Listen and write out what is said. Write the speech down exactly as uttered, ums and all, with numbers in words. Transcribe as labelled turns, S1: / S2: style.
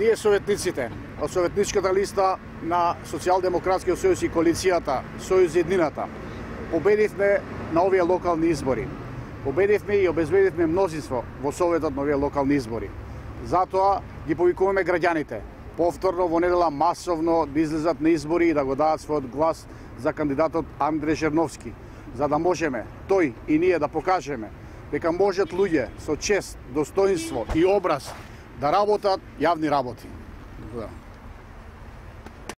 S1: Ние советниците од советничката листа на Социјалдемократскиот сојуз и коалицијата Сојуз Еднината победивме на овие локални избори. Победивме и обезбедивме мнозинство во советот на овие локални избори. Затоа ги повикуваме граѓаните повторно во недела масовно да излезат на избори и да го дадат својот глас за кандидатот Андреј Жерновски, за да можеме тој и ние да покажеме дека можат луѓе со чест, достоинство и образ да работат јавни работи. Да.